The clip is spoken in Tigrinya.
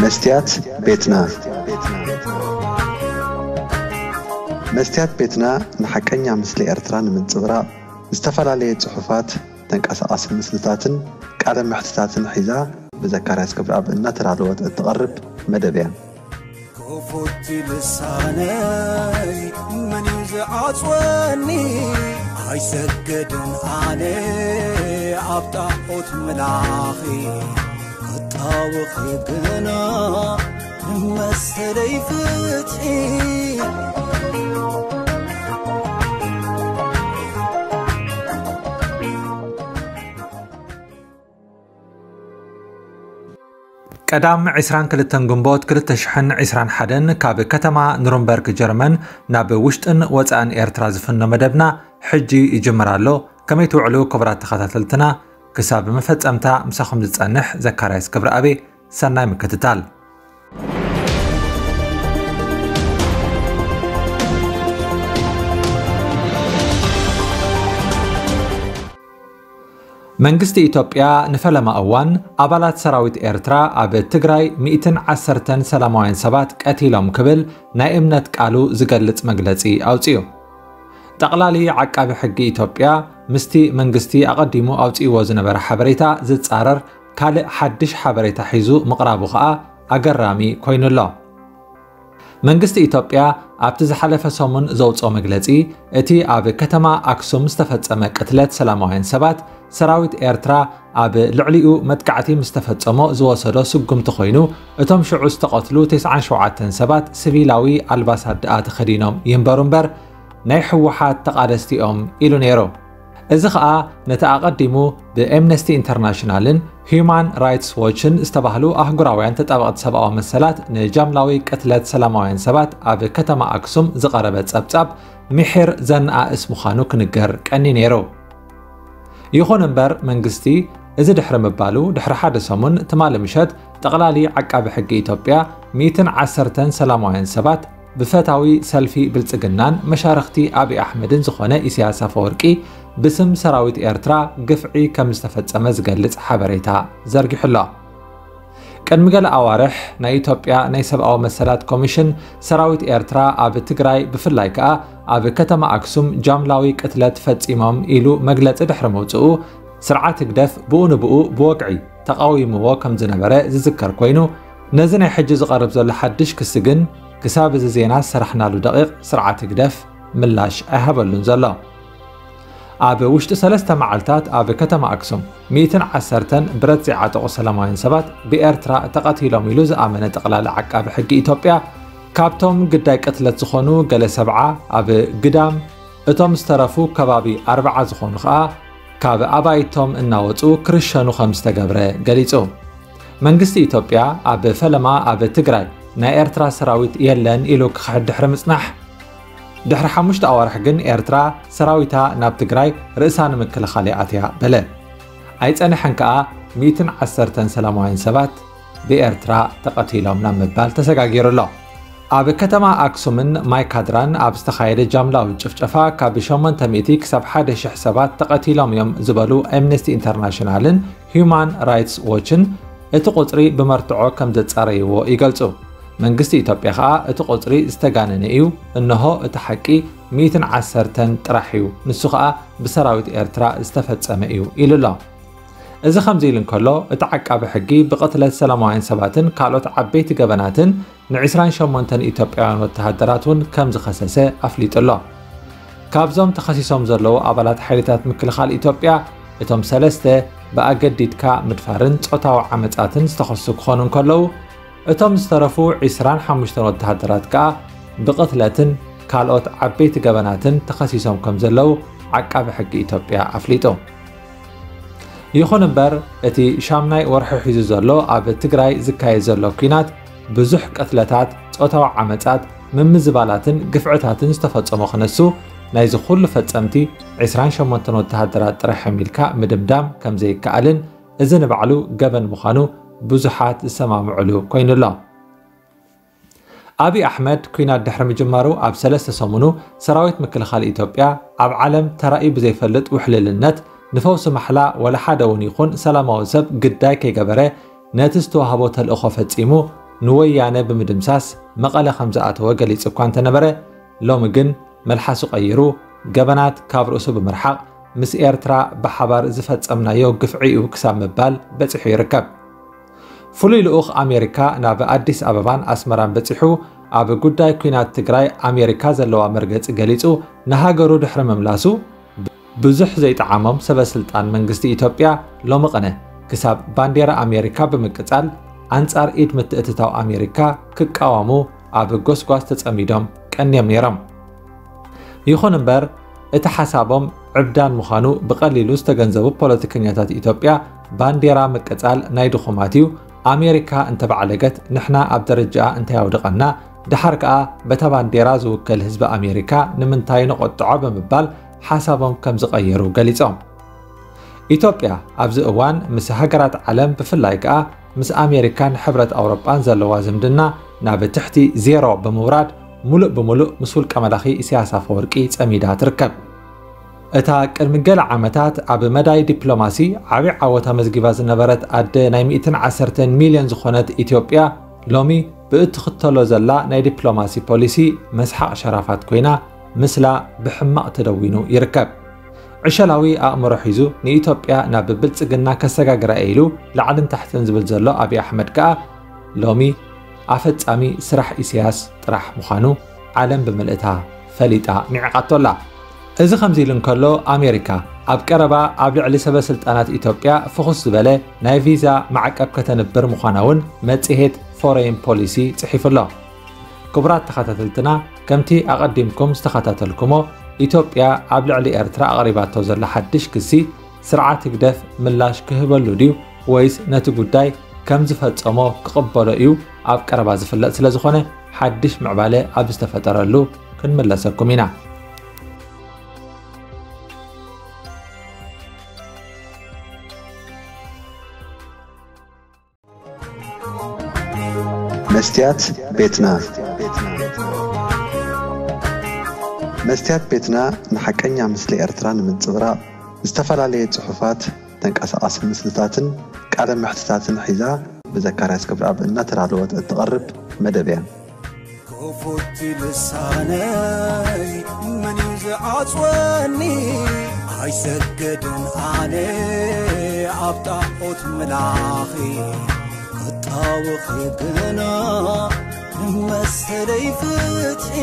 መስትያት ቤትና። መስትያት ቤትና ንሓቀኛ ምስሊ ኤርትራ ንምንጽብራቕ ዝተፈላለየ ጽሑፋት፣ ተንቀሳቓሲ ምስልታትን ቃለ መሕትታትን ሒዛ ብዘካርያስ ክብረኣብ እናተዳለወት እትቐርብ መደብ እያ። ክፉት ልሳነይ መን እዩ ዝዓጽወኒ? ኣይሰግድን ኣነ ኣብ ጣዖት ምላኺ፣ ክጣወኺ ግና ንመሰለይ ፍትሒ። ቀዳም ዕስራን ክልተን ግንቦት ክልተ ሽሕን ዕስራን ሓደን ካብ ከተማ ኑርንበርግ ጀርመን ናብ ውሽጥን ወጻእን ኤርትራ ዝፍኖ መደብና ሕጂ ይጅምር ኣሎ። ከመይ ትውዕሉ ክቡራት ተኸታተልትና? ክሳብ መፈጸምታ ምሳኹም ዝጸንሕ ዘካርያስ ክብረኣብ። ሰናይ ምክትታል። መንግስቲ ኢትዮጵያ ንፈለማ እዋን ኣባላት ሰራዊት ኤርትራ ኣብ ትግራይ ሚእትን ዓሰርተን ሰላማውያን ሰባት ቀቲሎም ክብል ናይ እምነት ቃሉ ዝገልጽ መግለጺ ኣውጺኡ። ጠቕላሊ ዓቃቢ ሕጊ ኢትዮጵያ ምስቲ መንግስቲ ኣቐዲሙ ኣውጺእዎ ዝነበረ ሓበሬታ ዝጻረር ካልእ ሓድሽ ሓበሬታ ሒዙ ምቕራቡ ኸኣ ኣገራሚ ኮይኑ ኣሎ። መንግስቲ ኢትዮጵያ ኣብቲ ዝሓለፈ ሰሙን ዘውጽኦ መግለጺ፣ እቲ ኣብ ከተማ ኣክሱም ዝተፈጸመ ቅትለት ሰላማውያን ሰባት፣ ሰራዊት ኤርትራ ኣብ ልዕሊኡ መጥቃዕቲ ምስ ተፈጸሞ ዝወሰዶ ስጉምቲ ኮይኑ፣ እቶም ሽዑ ዝተቐትሉ ተስዓን ሸውዓተን ሰባት ሲቪላዊ ኣልባሳት ደኣ ተኸዲኖም ይንበሩ እምበር፣ ናይ ህወሓት ተቓለስቲ እዮም ኢሉ ነይሩ። እዚ ኸኣ ነቲ ኣቐዲሙ ብኤምነስቲ ኢንተርናሽናልን ሂዩማን ራይትስ ዎችን ዝተባህሉ ኣህጉራውያን ተጣበቕቲ ሰብኣዊ መሰላት ንጃምላዊ ቅትለት ሰላማውያን ሰባት ኣብ ከተማ ኣክሱም ዝቐረበ ጸብጻብ ምሒር ዘነኣእስ ምዃኑ ክንገር ቀንዩ ነይሩ። ይኹን እምበር መንግስቲ እዚ ድሕሪ ምባሉ፣ ድሕሪ ሓደ ሰሙን ትማሊ ምሸት ጠቕላሊ ዓቃቢ ሕጊ ኢትዮጵያ ሚእትን ዓሰርተን ሰላማውያን ሰባት ብፈታዊ ሰልፊ ብልጽግናን መሻርኽቲ ኣብይ ኣሕመድን ዝኾነ ኢሳያስ ኣፈወርቂ ብስም ሰራዊት ኤርትራ ግፍዒ ከም ዝተፈጸመ ዝገልጽ ሓበሬታ ዘርጊሑ ኣሎ። ቅድሚ ገለ ኣዋርሕ ናይ ኢትዮጵያ ናይ ሰብኣዊ መሰላት ኮሚሽን ሰራዊት ኤርትራ ኣብ ትግራይ ብፍላይ ከኣ ኣብ ከተማ ኣክሱም ጃምላዊ ቅትለት ፈጺሞም ኢሉ መግለጺ ድሕሪ ምውጽኡ ስርዓት ህግደፍ ብኡ ንብኡ ብወግዒ ተቓዊምዎ ከም ዝነበረ ዝዝከር ኮይኑ፣ ነዚ ናይ ሕጂ ዝቐርብ ዘሎ ሓድሽ ክሲ ግን ክሳብ እዚ ዜና ዝሰራሕናሉ ደቒቕ ስርዓት ህግደፍ ምላሽ ኣይሃበሉን ዘሎ። ኣብ ውሽጢ ሰለስተ መዓልታት ኣብ ከተማ ኣክሱም ሚእትን ዓሰርተን ብረት ዘይዓጠቑ ሰላማውያን ሰባት ብኤርትራ ተቐቲሎም ኢሉ ዝኣመነ ጠቕላሊ ዓቃቢ ሕጊ ኢትዮጵያ፣ ካብቶም ግዳይ ቅትለት ዝኾኑ ገለ ሰብዓ ኣብ ግዳም፣ እቶም ዝተረፉ ከባቢ ኣርብዓ ዝኾኑ ኸኣ ካብ ኣባይቶም እናወጹ ክርሸኑ ከም ዝተገብረ ገሊጹ። መንግስቲ ኢትዮጵያ ኣብ ፈለማ ኣብ ትግራይ ናይ ኤርትራ ሰራዊት የለን ኢሉ ክኽሕድ ድሕሪ ምጽናሕ፣ ድሕሪ ሓሙሽተ ኣዋርሕ ግን ኤርትራ ሰራዊታ ናብ ትግራይ ርእሳ ንምክልኻል እያ ኣትያ በለ። ኣይጸንሐን ከኣ ሚእትን ዓሰርተን ሰላማውያን ሰባት ብኤርትራ ተቐቲሎም ናብ ምባል ተሰጋጊሩ ኣሎ። ኣብ ከተማ ኣክሱምን ማይካድራን ኣብ ዝተኻየደ ጃምላዊ ጭፍጨፋ ካብ ሸሞንተ ሚእቲ ክሳብ ሓደ ሽሕ ሰባት ተቐቲሎም እዮም ዝበሉ ኣምነስቲ ኢንተርናሽናልን ሂዩማን ራይትስ ዎችን እቲ ቁጽሪ ብመርትዖ ከም ዘጻረይዎ ይገልጹ። መንግስቲ ኢትዮጵያ ኸኣ እቲ ቁጽሪ ዝተጋነነ እዩ፣ እንሆ እቲ ሓቂ ሚእትን ዓሰርተን ጥራሕ እዩ፣ ንሱ ኸኣ ብሰራዊት ኤርትራ ዝተፈጸመ እዩ ኢሉ ኣሎ። እዚ ከምዚ ኢሉ እንከሎ፣ እቲ ዓቃቢ ሕጊ ብቕትለት ሰላማውያን ሰባትን ካልኦት ዓበይቲ ገበናትን ንዕስራን ሸሞንተን ኢትዮጵያውያን ወተሃደራት እውን ከም ዝኸሰሰ ኣፍሊጡ ኣሎ። ካብዞም ተኸሲሶም ዘለዉ ኣባላት ሓይልታት ምክልኻል ኢትዮጵያ፣ እቶም ሰለስተ ብኣገዲድካ ምድፋርን ጾታዊ ዓመጻትን ዝተኸሱ ክኾኑ እንከለዉ፣ እቶም ዝተረፉ ዕስራን ሓሙሽተን ወተሃደራት ከኣ ብቕትለትን ካልኦት ዓበይቲ ገበናትን ተኸሲሶም ከም ዘለዉ ዓቃቢ ሕጊ ኢትዮጵያ ኣፍሊጡ። ይኹን እምበር፣ እቲ ሻምናይ ወርሒ ሒዙ ዘሎ ኣብ ትግራይ ዝካየድ ዘሎ ኲናት ብዙሕ ቅትለታት፣ ጾታዊ ዓመጻት፣ ምምዝባላትን ግፍዕታትን ዝተፈጸሞ ክነሱ፣ ናይዚ ኩሉ ፈጸምቲ ዕስራን ሸሞንተን ወተሃደራት ጥራሕ እዮም ኢልካ ምድምዳም ከም ዘይከኣልን፣ እዚ ንባዕሉ ገበን ምዃኑ ብዙሓት ዝሰማምዑሉ ኮይኑ ኣሎ። ኣብይ ኣሕመድ ኲናት ድሕሪ ምጅማሩ ኣብ ሰለስተ ሰሙኑ ሰራዊት ምክልኻል ኢትዮጵያ ኣብ ዓለም ተራእዩ ብዘይፈልጥ ውሕልልነት ንፈውሲ ማሕላ ወላ ሓደ እውን ይኹን ሰላማዊ ሰብ ግዳይ ከይገበረ ነቲ ዝተዋህቦ ተልእኾ ፈጺሙ ንወያነ ብምድምሳስ መቐለ ከም ዝኣተወ ገሊጹ እኳ እንተነበረ፣ ሎሚ ግን መልሓሱ ቀይሩ፣ ገበናት ካብ ርእሱ ብምርሓቕ፣ ምስ ኤርትራ ብሓባር ዝፈጸምናዮ ግፍዒ እዩ ክሳብ ምባል በጺሑ ይርከብ። ፍሉይ ልኡኽ ኣሜሪካ ናብ ኣዲስ ኣበባን ኣስመራን በጺሑ፣ ኣብ ጉዳይ ኲናት ትግራይ ኣሜሪካ ዘለዋ መርገጺ ገሊጹ፣ ንሃገሩ ድሕሪ ምምላሱ፣ ብዙሕ ዘይጠዓሞም ሰበ ስልጣን መንግስቲ ኢትዮጵያ ሎሚ ቅነ ክሳብ ባንዴራ ኣሜሪካ ብምቅጻል፣ ኣንጻር ኢድ ምትእትታው ኣሜሪካ ክቃወሙ ኣብ ጎስጓስ ተጸሚዶም ቀንዮም ነይሮም። ይኹን እምበር፣ እቲ ሓሳቦም ዕብዳን ምዃኑ ብቐሊሉ ዝተገንዘቡ ፖለቲከኛታት ኢትዮጵያ፣ ባንዴራ ምቅጻል ናይ ድኹማት እዩ፣ ኣሜሪካ እንተባዕለገት ንሕና ኣብ ደረጃኣ እንታይ ኣውድቐና፣ ደሓር ከኣ በታ ባንዴራ ዝውከል ህዝቢ ኣሜሪካ ንምንታይ ንቆጥዖ ብምባል ሓሳቦም ከም ዝቐየሩ ገሊጾም። ኢትዮጵያ ኣብዚ እዋን ምስ ሃገራት ዓለም፣ ብፍላይ ከኣ ምስ ኣሜሪካን ሕብረት ኣውሮጳን ዘለዋ ዝምድና ናብ ትሕቲ ዜሮ ብምውራድ፣ ሙሉእ ብሙሉእ ምስ ውልቀ መላኺ ኢሳያስ ኣፈወርቂ ጸሚዳ ትርከብ። እታ ቅድሚ ገለ ዓመታት ኣብ መዳይ ዲፕሎማሲ ዓቢ ዓወት ኣመዝጊባ ዝነበረት ኣደ ናይ ሚእትን ዓሰርተን ሚልዮን ዝኾነት ኢትዮጵያ፣ ሎሚ ብእትኽተሎ ዘላ ናይ ዲፕሎማሲ ፖሊሲ መስሓቕ ሸራፋት ኮይና፣ ምስላ ብሕማቕ ተደዊኑ ይርከብ። ዕሸላዊ ኣእምሮ ሒዙ ንኢትዮጵያ ናብ ብልጽግና ከሰጋግራ እየ ኢሉ ላዕልን ታሕትን ዝብል ዘሎ ኣብይ ኣሕመድ ከኣ፣ ሎሚ ኣፈጻሚ ስራሕ ኢሳያስ ጥራሕ ምዃኑ ዓለም ብምልእታ ፈሊጣ ንዒቓቶ ኣላ። እዚ ከምዚ ኢሉ እንከሎ፣ ኣሜሪካ ኣብ ቀረባ ኣብ ልዕሊ ሰበ ስልጣናት ኢትዮጵያ ፍኹስ ዝበለ ናይ ቪዛ ማዕቀብ ከተንብር ምዃና እውን መጽሔት ፎሬን ፖሊሲ ጽሒፉ ኣሎ። ክቡራት ተኸታተልትና፣ ከምቲ ኣቐዲምኩም ዝተኸታተልኩሞ፣ ኢትዮጵያ ኣብ ልዕሊ ኤርትራ ኣቕሪባቶ ዘላ ሓድሽ ክሲ፣ ስርዓት ህግደፍ ምላሽ ክህበሉ ድዩ ወይስ ነቲ ጉዳይ ከም ዝፈጸሞ ክቕበሎ እዩ ኣብ ቀረባ ዝፍለጥ ስለ ዝኾነ፣ ሓድሽ ምዕባለ ኣብ ዝተፈጠረሉ ክንምለሰኩም ኢና። መስትያት ቤትና። መስትያት ቤትና ንሓቀኛ ምስሊ ኤርትራ ንምንጽብራቕ፣ ዝተፈላለየ ጽሑፋት፣ ተንቀሳቓሲ ምስልታትን ቃለ መሕትታትን ሒዛ ብዘካርያስ ክብረኣብ እናተዳለወት እትቐርብ መደብ እያ። ክፉት ልሳነይ መን እዩ ዝዓጽወኒ? ኣይሰገድን ኣነ ኣብ ጣዖት ምላኺ ክጣወኺ ግና ንመሰለይ ፍትሒ